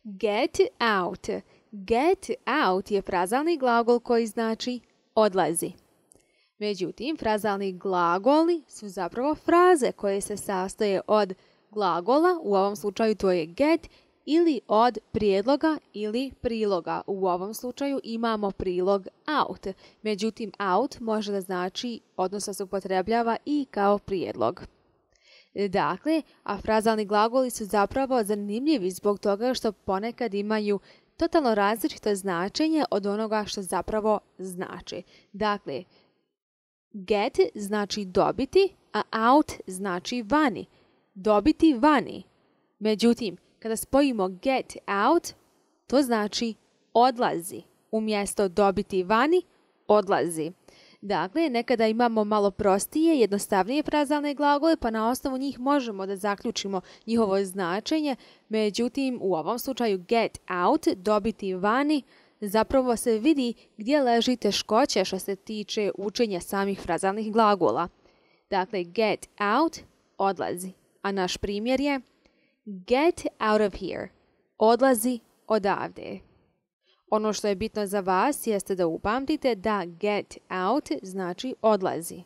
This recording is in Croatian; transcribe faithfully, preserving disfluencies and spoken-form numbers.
Get out. Get out je frazalni glagol koji znači odlazi. Međutim, frazalni glagoli su zapravo fraze koje se sastoje od glagola, u ovom slučaju to je get, ili od prijedloga ili priloga. U ovom slučaju imamo prilog out. Međutim, out može da znači, odnosno se upotrebljava i kao prijedlog. Dakle, a frazalni glagoli su zapravo zanimljivi zbog toga što ponekad imaju totalno različito značenje od onoga što zapravo znači. Dakle, get znači dobiti, a out znači vani. Dobiti vani. Međutim, kada spojimo get out, to znači odlazi. Umjesto dobiti vani, odlazi. Dakle, nekada imamo malo prostije, jednostavnije frazalne glagole, pa na osnovu njih možemo da zaključimo njihovo značenje. Međutim, u ovom slučaju get out, dobiti vani, zapravo se vidi gdje leži teškoće što se tiče učenja samih frazalnih glagola. Dakle, get out, odlazi. A naš primjer je get out of here, odlazi odavde. Ono što je bitno za vas jeste da upamtite da get out znači odlazi.